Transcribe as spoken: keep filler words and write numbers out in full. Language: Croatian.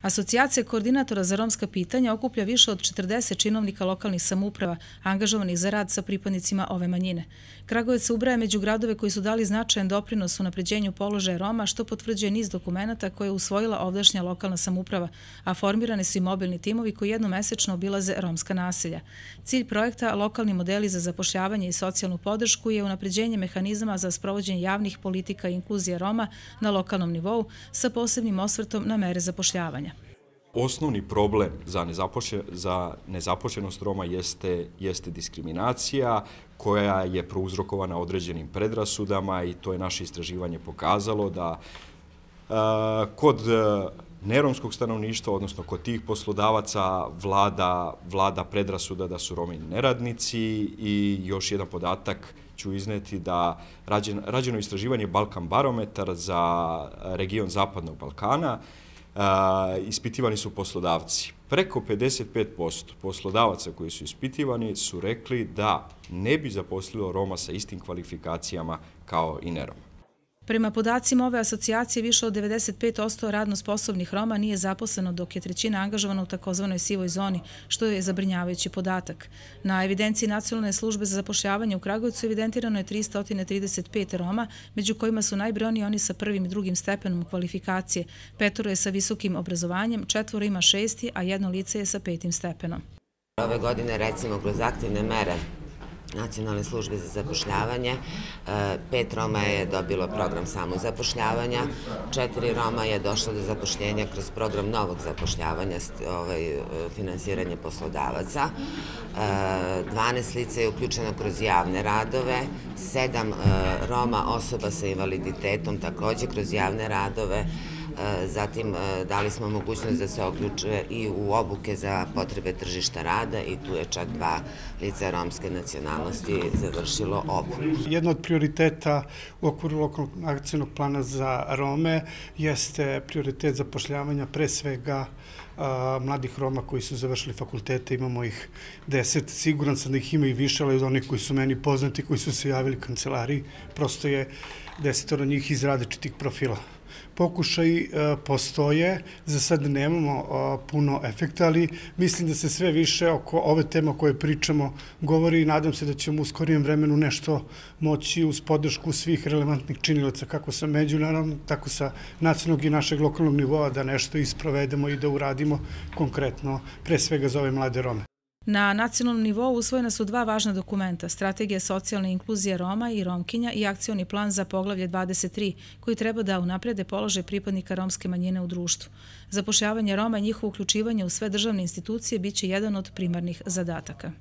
Asocijacija koordinatora za romska pitanja okuplja više od četrdeset činovnika lokalnih samouprava angažovanih za rad sa pripadnicima ove manjine. Kragujevac se ubraja među gradove koji su dali značajan doprinos u unapređenju položaja Roma, što potvrđuje niz dokumenata koje je usvojila ovdašnja lokalna samouprava, a formirane su i mobilni timovi koji jednomesečno obilaze romska naselja. Cilj projekta Lokalni modeli za zapošljavanje i socijalnu podršku je unapređenje mehanizama za sprovođenje javnih politika i inkluzije Roma na lokalnom nivou sa posebnim osvrtom na mere zapošljavanja. Osnovni problem za, nezapošlje, za nezaposlenost Roma jeste, jeste diskriminacija koja je prouzrokovana određenim predrasudama i to je naše istraživanje pokazalo da a, kod neromskog stanovništva, odnosno kod tih poslodavaca vlada, vlada predrasuda da su Romi neradnici i još jedan podatak ću izneti da rađen, rađeno istraživanje Balkan barometar za region Zapadnog Balkana. Uh, ispitivani su poslodavci. Preko pedeset pet posto poslodavaca koji su ispitivani su rekli da ne bi zaposlilo Roma sa istim kvalifikacijama kao i neroma. Prema podacima ove asocijacije, više od devedeset pet posto radno sposobnih Roma nije zaposleno, dok je trećina angažovana u takozvanoj sivoj zoni, što je zabrinjavajući podatak. Na evidenciji Nacionalne službe za zapošljavanje u Kragujevcu evidentirano je trista trideset pet Roma, među kojima su najbrojniji oni sa prvim i drugim stepenom kvalifikacije. Petoro je sa visokim obrazovanjem, četvoro ima šesti, a jedno lice je sa petim stepenom. Ove godine, recimo, kroz aktivne mere Nacionalne službe za zapošljavanje, pet Roma je dobilo program samozapošljavanja, četiri Roma je došlo do zapošljenja kroz program novog zapošljavanja, ovaj, finansiranje poslodavaca, dvanaest lica je uključeno kroz javne radove, sedam Roma osoba sa invaliditetom također kroz javne radove. Zatim dali smo mogućnost da se uključe i u obuke za potrebe tržišta rada i tu je čak dva lica romske nacionalnosti završilo obuku. Jedno od prioriteta u okviru lokalnog akcijnog plana za Rome jeste prioritet zapošljavanja pre svega mladih Roma koji su završili fakultete, imamo ih deset, siguran sam da ih ima i više, ali od onih koji su meni poznati, koji su se javili kancelariji, prosto je desetoro njih iz različitih profila. Pokušaj postoje, za sad nemamo puno efekta, ali mislim da se sve više oko ove teme o kojoj pričamo govori i nadam se da ćemo u skorijem vremenu nešto moći uz podršku svih relevantnih činilaca, kako sa međunarodnog, tako sa nacionalnog i našeg lokalnog nivoa, da nešto isprovedemo i da uradimo konkretno, pre svega za ove mlade Rome. Na nacionalnom nivou usvojena su dva važna dokumenta, Strategija socijalne inkluzije Roma i Romkinja i Akcioni plan za poglavlje dvadeset tri, koji treba da unaprede položaj pripadnika romske manjine u društvu. Zapošljavanje Roma i njihovo uključivanje u sve državne institucije biće jedan od primarnih zadataka.